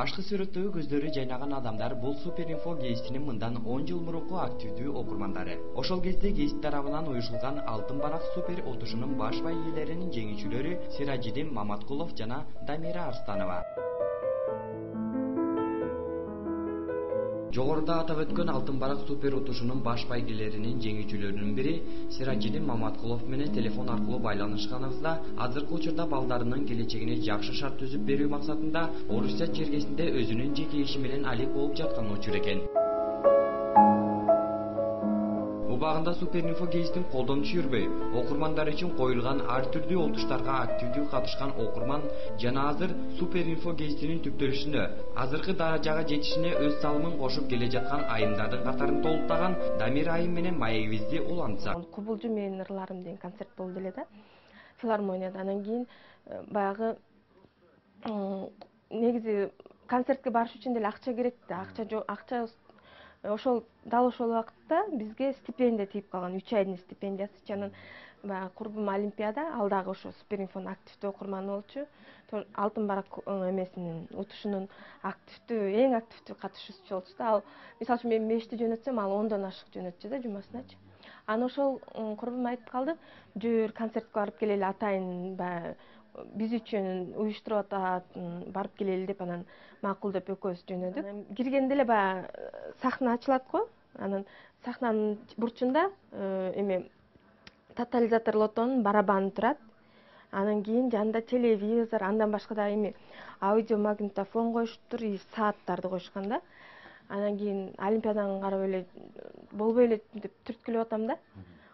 Башкы сүрөттөгү көздөрү жайнаган адамдар бул Суперинфо гезитинин мындан 10 жыл мурунку активдүү окурмандары. Ошол кезде гезит тарабынан уюшулган Алтын барак супер отушунун баш байгелеринин жеңүүчүлөрү Сиражидин Маматкулов жана Дамира Арстанова. Жогоруда атап өткөн Алтын барак супер утушунун баш байгелеринин жеңүүчүлөрүнүн бири Сиражидин Маматкулов менен телефон аркылуу байланышканыбызда азыркы учурда балдарынын келечегине жакшы шарт түзүп берүү максатында Орусия чергесинде өзүнүн жеке иши менен алек болуп жаткан учур экен. Убагында Суперинфо гезитин колдонуп жүрбөй, окурмандар үчүн коюлган ар түрдүү отуштарга активдүү катышкан окурман жана азыр Суперинфо гезитинин түптөлүшүнө, азыркы даражага жетишине өз салымын кошуп келе жаткан айымдардын катарын толуктаган Дамир айым менен маегибизди улантсак. Кубулжу менин ырларым деген концерт болду эле да. Филармонияда. Анан кийин баягы негизи концертке барыш үчүн деле акча керек да. Акча ошол дал ошол убакытта бизге стипендия тийип калган, 3 айдын стипендиясы. Анан баягы курбум Олимпиада, ал дагы ошо Суперинфонун активдүү окурманы болчу. Алтын барак эмесинин утушунун эң активдүү катышуучусу болчу да. Ал мисалы үчүн мен 5ти жөнөтсөм, ал 10дон ашык жөнөтчү да жумасыначы. Анан ошол курбум айтып калды, жүр концертке барып келели, атайын баягы биз үчүн уюштуруп атат, барып келели деп анан макул деп экөөбүз жөнөдүк. Киргенде эле баягы сахна ачылат го. Анан сахнанын бурчунда эме тотализатор лотонун барабаны турат. Анан кийин жанында телевизор, андан башка дагы эме аудиомагнитофон коюшуптур, и сааттарды коюшкан да. Анан кийин Олимпиаданы карап эле болбой эле деп түрткүлөп атам да.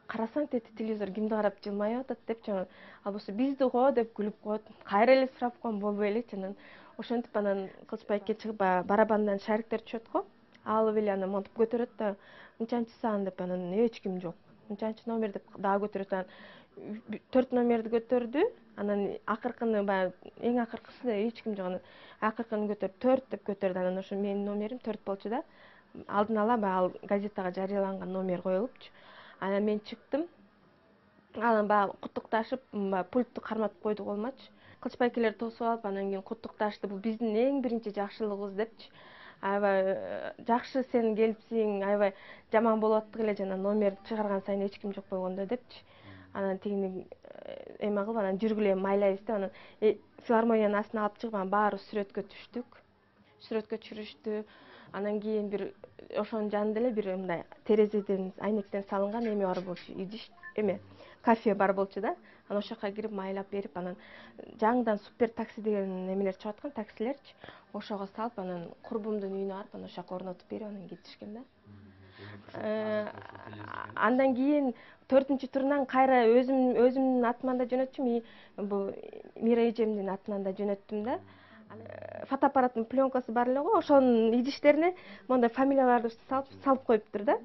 Карасаң тети телевизор кимди карап жылмайып атат депчи, анан албосо бизди го деп күлүп коет. Кайра эле сурап коем, болбой элечи. Анан ошентип анан Кылычбайке чыгып барабандан шариктер түшөт го. Алып эле анан монтип көтөрөт да, мынчанчы сан деп анан эч ким жок. Мынчанчы номер деп дагы көтөрөт. Анан 4 номерди көтөрдү. Анан акыркыны баягы эң акыркысы эч ким жок. Анан акыркыны көтөрүп 4 деп көтөрдү. Анан ошо менин номерим 4 болчу да. Алдын ала баягы газетага жарыяланган номер коюлупчу. Анан мен чыктым. Анан баягы куттукташып, пультту карматып койду колмачы. Кылычбайкелер тосуп алып, анан кийин куттукташты. Бул биздин эң биринчи жакшылыгыбыз депчи. Аябай жакшы сен келипсиң, аябай жаман болуп аттык эле, жана номер чыгарган сайын эч ким жок болгондо депчи. Анан тигини эме кылып, анан жүргүлө майлайбыз деп, анан филармониянын астына алып чыгып, анан баары сүрөткө түштүк. Сүрөткө түшүрүштү. Анан кийин бир ошонун жанында эле бир мындай терезеден, айнектен салынган эме бар болчу, идиш эме кафе бар болчу да. Анан ошол жака кирип майлап берип, анан жаңыдан супер такси деген эмелер чыгып аткан, таксилерчи. Ошого салып, анан курбумдун үйүнө барып, анан ошол жака орнотуп берип, анан кетишкен да. Андан кийин 4-чү турунан кайра өзүмдүн атыман да жөнөтчүм, бул Мира эжемдин атынан да жөнөттүм да. Фотоаппараттын пленкасы бар эле го, ошонун идиштерине мондай фамилияларды салып коюптур да.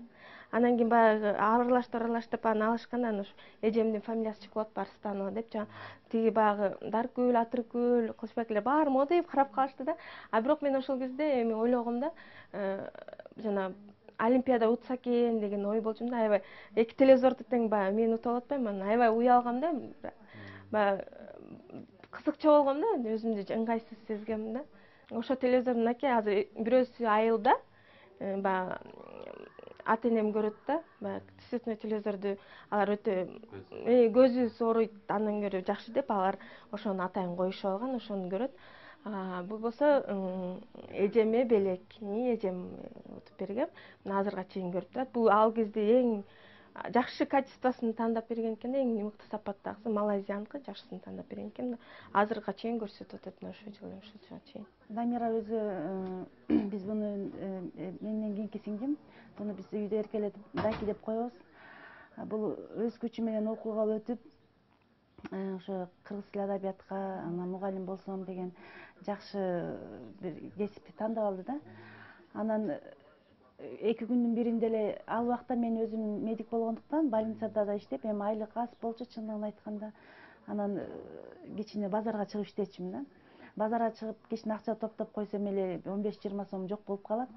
Анан кийин баягы аралаштырып анан алышканда, анан ушу эжемдин фамилиясы чыгып атып, Арстанова деп, тиги баягы Даркүл, Атыркүл, Кылычбайкелер баары модейип карап калышты да. А бирок мен ошол кезде эми ойлогом да, жана Олимпиада утса экен деген ой болчумун да. Аябай эки телевизорду тең баягы мен утуп атпайм, анан аябай уялгам да. Баягы кызыкча болгом да, өзүмдү ыңгайсыз сезгем да. Ошо телевизордун аке азыр бирөөсү айылда, баягы ата энем көрөт да, баягы цветной телевизорду алар өтө көзү ооруйт, андан көрө жакшы деп алар ошону атайын коюшуп алган, ошону көрөт. Бул болсо эжеме белекни эжем утуп берген. Мына азырга чейин көрүп турат. Бул ал кезде эң жакшы качествосын тандап берген экен да, эң мыкты сапаттагысы малайзияныкы жакшысын тандап берген экен да. Азырга чейин көрсөтүп атат, ошо жылы ушунчага чейин. Дамира өзү биз буну менден кийинки сиңдим. Буну биз үйдө эркелетип Даки деп коебуз. Бул өз күчү менен окууга өтүп, ошо кыргыз тили адабиятка анан мугалим болсом деген жакшы бир кесипти тандап алды да. Анан 2 күндүн биринде эле, ал убакта мен өзүм медик болгондуктан больницада да иштеп, эми айлык аз болчу чындыгын айтканда. Анан кичине базарга чыгып иштечүмүн да. Базарга чыгып кичине акча топтоп койсом эле 15-20 сом жок болуп калат.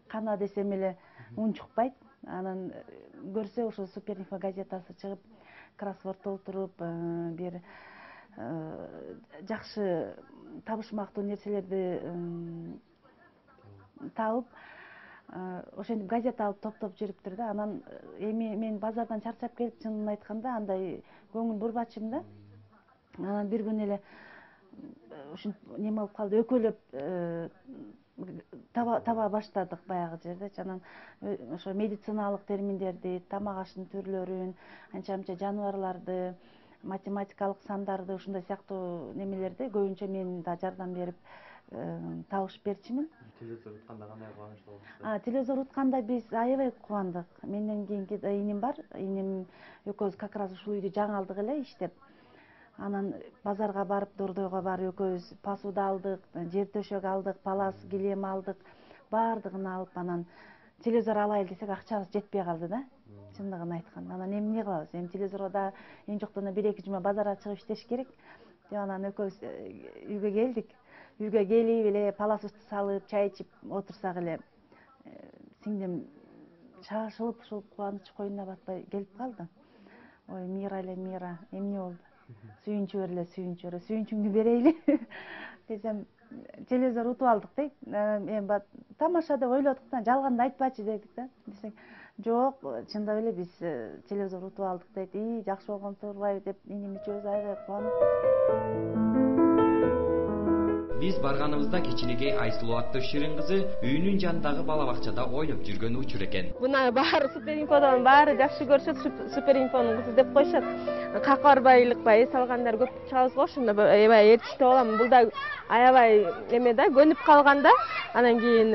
Кана десем эле ун чукпайт. Анан көрсө ошо Суперинфо газетасы чыгып, кроссворд толтуруп, бир жакшы табышмактуу нерселерди табып ошентип газета алып топтоп жүрүптүр да. Анан эми мен базардан чарчап келип, чынын айтканда андай көңүл бурбачымын да. Анан бир күнү эле ушинтип неме болуп калды, өкөлөп таба баштадык баягы жердечи. Анан ошо медициналык терминдерди, тамак аштын түрлөрүн, анча мынча жаныбарларды, математикалык сандарды, ушундай сыяктуу немелерди көбүнчө мен да жардам берип табышып берчимин. Телевизор утканда кандай кубанычтуу болдуңуз? Телевизор утканда биз аябай кубандык. Менден кийинки иним бар. Иним экөөбүз как раз ушул үйдү жаңы алдык эле иштеп. Анан базарга барып, Дордойго барып экөөбүз посуда алдык, жер төшөк алдык, палас, килем алдык. Баардыгын алып, анан телевизор алайлы десек, акчабыз жетпей калды да. Чындыгын айтканда. Анан эмне кылабыз? Эми телевизорго да эң жоктон 1-2 жума базарга чыгып иштеш керек. Деп анан экөөбүз үйгө келдик. Үйгө келип эле паласыбызды салып, чай ичип отурсак эле сиңдим шашылып, ушул кубаныч коюнуна батпай келип калды. Ой, Мира эле, Мира, эмне болду? Сүйүнчү бер эле, сүйүнчү бер. Сүйүнчүңдү берейли десем, телевизор утуп алдык дейт. Эми тамаша деп ойлодук да, жалганды айтпачы дедик да. Десек, жок, чындап эле биз телевизор утуп алдык дейт. Жакшы болгон турбайбы деп, иним үчөөбүз аябай кубанып. Биз барганыбызда кичинекей Айсулуу аттуу ширин кызы үйүнүн жанындагы бала бакчада ойноп жүргөн учур экен. Буна баары Суперинфодон баары жакшы көрүшөт, Суперинфонун кызы деп коюшат. Какка барбайлыкпай эс алгандар көп чыгабыз го, ошондо аябай ээрчиштүү болом. Бул да аябай эме да, көнүп калганда, анан кийин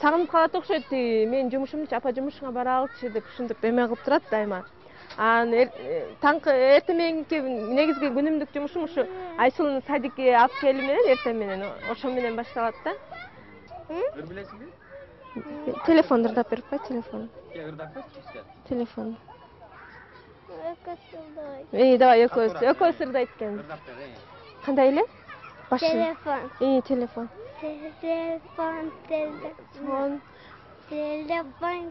сагынып калат окшойт. Менин жумушумчу, апа жумушуңа бара алчы деп ушинтип эме кылып турат дайыма. Анан таңкы эртең мененки негизги күнүмдүк жумушум ушу Айсулууну садикке алып келүү менен эртең менен ошо менен башталат да. Билесиңби? Телефонду ырдап берип кой, телефон. Ырдап койчу. Телефон. Экөөсү Давай экөөс ырдайт экен. Кандай эле? телефон. Телефон. Телефон.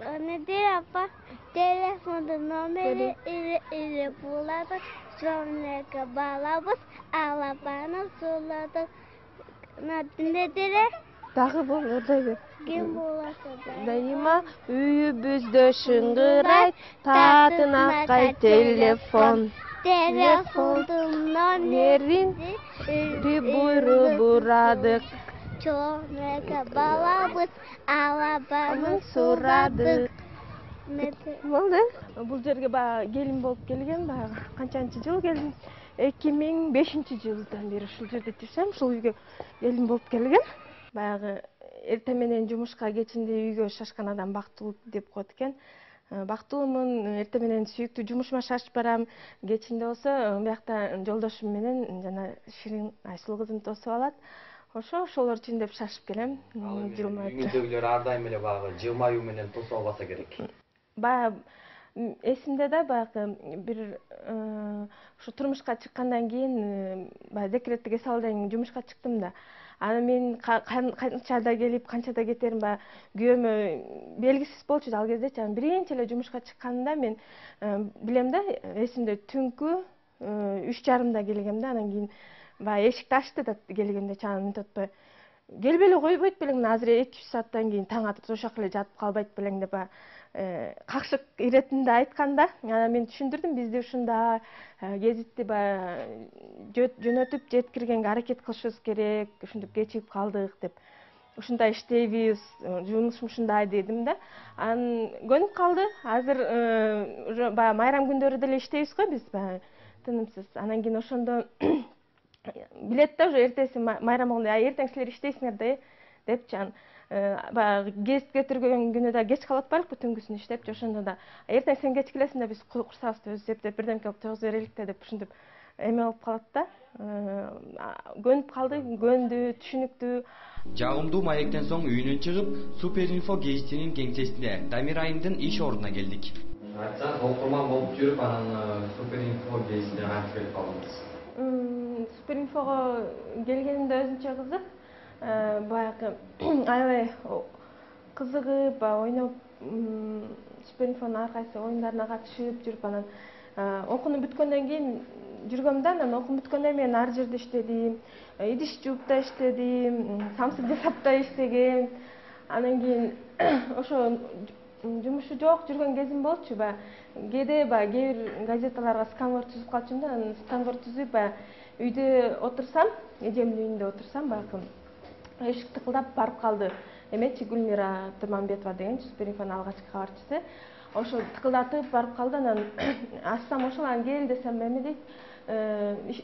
Nedir apa? Telefonun nomeri iri buladık. Sonra kabalabız. Alabanı suladık. Nedir? Дагы бул ырдай бер. Kim bulasa da. Дайыма үйүбүздө шыңгырайт, татын акай телефон. Telefonun Номерин буйруп бурадык. Sonra kabalabız. Alabanı Сурадык. Nedir? Болду. Бул жерге баягы келин болуп келген, баягы канчанчы жыл келдим? 2005-жылдан бери ушул жерде жашайм. Ушул үйгө келин болуп келген. Баягы эртең менен жумушка, кечинде үйгө шашкан адам бактылуу деп коет экен. Бактылуумун, эртең менен сүйүктүү жумушума шашып барам. Кечинде болсо биякта жолдошум менен жана Ширин Айсулуу кызым тосуп алат. Ошолор үчүн деп шашып келем. Жылмайып. Үйүңүздөгүлөр ар дайым эле баягы жылмаюу менен тосуп албаса керек. Баягы эсимде да, баягы бир ушу турмушка чыккандан кийин баягы декреттик эс алуудан кийин жумушка чыктым да. Анан мен канчада келип, канчада кетерим, баягы күйөөмө белгисиз болчу ал кездечи. Анан биринчи эле жумушка чыкканда мен билем да, эсимде түнкү 3:30 келгем да. Анан кийин баягы эшикти ачты да келгендечи, анан мынтип атпай келбей эле койбойт белең, азыр 2-3 сааттан кийин таң атып ошол эле жатып калбайт белең деп какшык иретинде айтканда, анан мен түшүндүрдүм, бизди ушунда гезитти баягы жөнөтүп жеткиргенге аракет кылышыбыз керек, ушинтип кечигип калдык деп. Ушундай иштейбиз, жумушум ушундай дедим да. Анан көнүп калды. Азыр уже баягы майрам күндөрү деле иштейбиз го биз, баягы тынымсыз. Анан кийин ошондо билет да, уже эртеси майрам болгондо, эртең силер иштейсиңер да депчи. Анан баягы гезит көтөргөн күнү да кеч калып атпайлыкпы, түнгүсүн иштепчи. Ошондо да эртең сен кеч келесиң да, биз курсабызды өзүбүз эптеп бирдемке кылып тойгуз берелик да деп ушинтип эме болуп калат да. Көнүп калды, көндү, түшүнүктүү. Жагымдуу маектен соң үйүнөн чыгып, Суперинфо гезитинин кеңсесине, Дамир айымдын иш ордуна келдик. Айтсаңыз, окурман болуп жүрүп, анан Суперинфо гезитине кантип келип калдыңыз? Суперинфого келгенимде өзүнчө кызык. Баягы аябай кызыгып, ойноп, Суперинфонун ар кайсы оюндарына катышып жүрүп, анан окууну бүткөндөн кийин жүргөм да, анан окуум бүткөндөн мен ар жерде иштедим, идиш жууп да иштедим, самсык жасап да иштегем. Анан кийин ошо жумушу жок жүргөн кезим болчу. Кээде кээ бир газеталарга сканвор түзүп калчумун да, анан сканвор түзүп үйдө отурсам, эжемдин үйүндө отурсам, баягы эшик тыкылдап барып калды. Эмечи Гүлмира Турманбетова деген Суперинфонун алгачкы кабарчысы. Ошо тыкылдатып барып калды, анан ачсам ошол, анан кел десем эме дейт,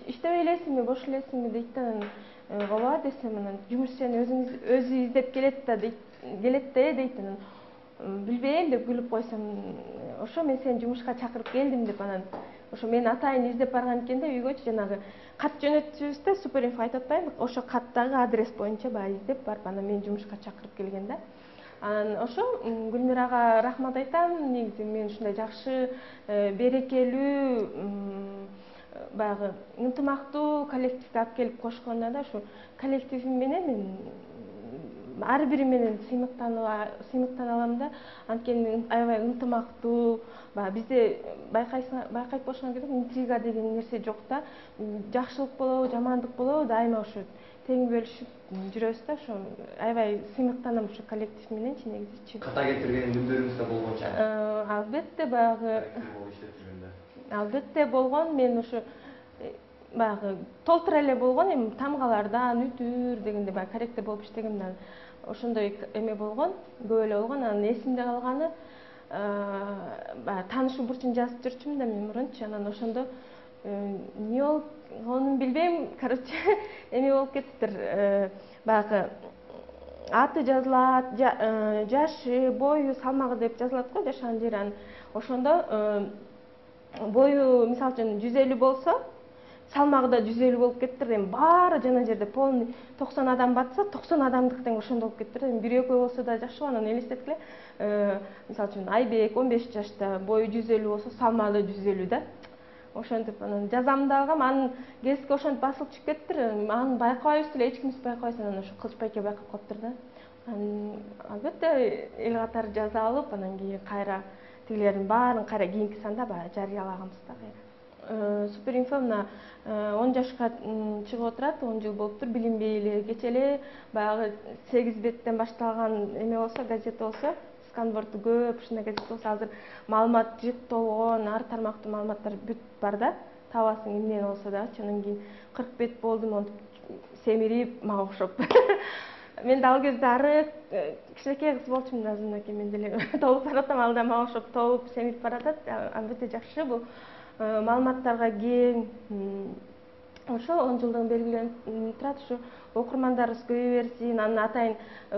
иштебей элесиңби, бош элесиңби дейт да, анан ооба десем, анан жумуш сени өзү издеп келет да дейт, анан билбейм деп күлүп койсом, ошо мен сени жумушка чакырып келдим деп, анан ошо мени атайын издеп барган экен да, үйгөчү жанагы кат жөнөтчүбүз да, Суперинфо айтып атпаймынбы, ошо каттагы адрес боюнча издеп барып, анан мени жумушка чакырып келген да. Анан ошо Гүлмирага рахмат айтам, негизи мен ушундай жакшы, берекелүү, баягы ынтымактуу коллективге алып келип кошконуна да, ушу коллективим менен мен ар бири менен сыймыктана алам да. Анткени аябай ынтымактуу, бизде байкайт болушуңар керек, интрига деген нерсе жок да. Жакшылык болобу, жамандык болобу, дайыма ушу тең бөлүшүп жүрөбүз да. Ошо аябай сыймыктанам ушу коллектив мененчи, негизичи. Ката кетирген күндөрүңүз да болгон чак? Албетте, албетте болгон. Мен ушу баягы толтура эле болгон, эми тамгалардан үтүр дегенде корректор болуп иштегем да, ошондой эме болгон, көп эле болгон. Анан эсимде калганы, таанышуу бурчун жазып жүрчүмүн да мен мурунчу, анан ошондо эмне болгонун билбейм, короче, эме болуп кетиптир, баягы аты жазылат, жашы, бою, салмагы деп жазылат го, жашаган жери. Анан ошондо бою мисалы үчүн 150 болсо, салмагы да 150 болуп кетиптир. Эми баары жана жерде полный 90 адам батса, 90 адамдык тең ошондо болуп кетиптир. Эми бир экөө болсо да жакшы го. Анан элестеткиле, мисалы үчүн Айбек 15 жашта, бою 150 болсо, салмагы да 150 да. Ошентип анан жазам да алгам, анын кесиги ошентип басылып чыгып кетиптир. Аны байкабайбыз эле, эч кимис байкабайт. Анан ошо Кылыч байке байкап калыптыр да. Анан албетте эл катары жаза алып, анан кийин кайра тигилердин баарын кайра кийинки санда жарыялаганбыз да кайра. Суперинфо мына 10 жашка чыгып отурат, 10 жыл болуптур, билинбей эле. Кече эле баягы 8 беттен башталган эме болсо, газета болсо, сканворду көп, ушундай газета болсо, азыр маалымат жыттолгон, ар тармактуу маалыматтар бүт бар да. Табасың эмне болсо дагычы. Анан кийин 40 бет болдум, монтип семирип, мага окшоп. Мен да ал кезде арык, кичинекей кыз болчумун да, азырынакей мен деле толуп баратам, ал да мага окшоп толуп семирип баратат. Албетте жакшы, бул маалыматтарга кең. Ошо 10 жылдыгын белгиленип турат, ушу окурмандарыбыз көбөйө берсин. Анан атайын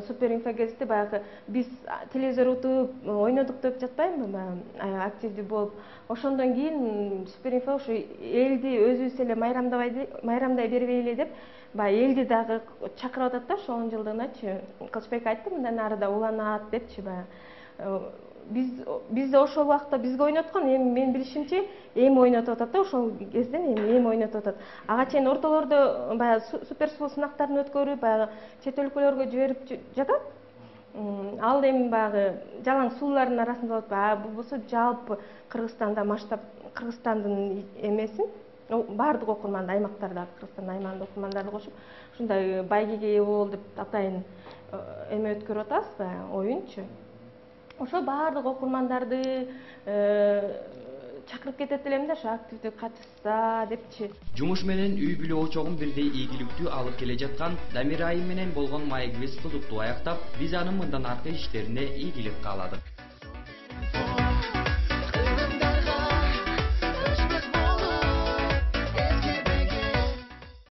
Суперинфо гезити баягы биз телевизор утуп ойнодук деп жатпаймынбы, активдүү болуп. Ошондон кийин Суперинфо ушу элди өзүбүз эле майрамдай бербей эле деп, элди дагы чакырып атат да, ошо 10 жылдыгыначы. Кылычбек айтты, мындан ары да уланат депчи. Биз ошол убакта бизге ойноткон, эми мен билишимче эми ойнотуп атат да, ошол кезден эми ойнотуп атат. Ага чейин ортолордо баягы суперсуу сынактарын өткөрүп, баягы чет өлкөлөргө жиберип жатат. Ал эми баягы жалаң суулардын арасында болот. Бул болсо жалпы Кыргызстанда масштаб, Кыргызстандын эмесин баардык окурманды, аймактарда, Кыргызстандын аймагында окурмандарды кошуп, ушундай байгеге ээ бол деп атайын эме өткөрүп атабыз, оюнчу. Ошо баардык окурмандарды чакырып кетет элем да, ошо активдүү катышса депчи. Жумуш менен үй бүлө очогун бирдей ийгиликтүү алып келе жаткан Дамира айым менен болгон маегибиз кызыктуу аяктап, биз анын мындан аркы иштерине ийгилик кааладык.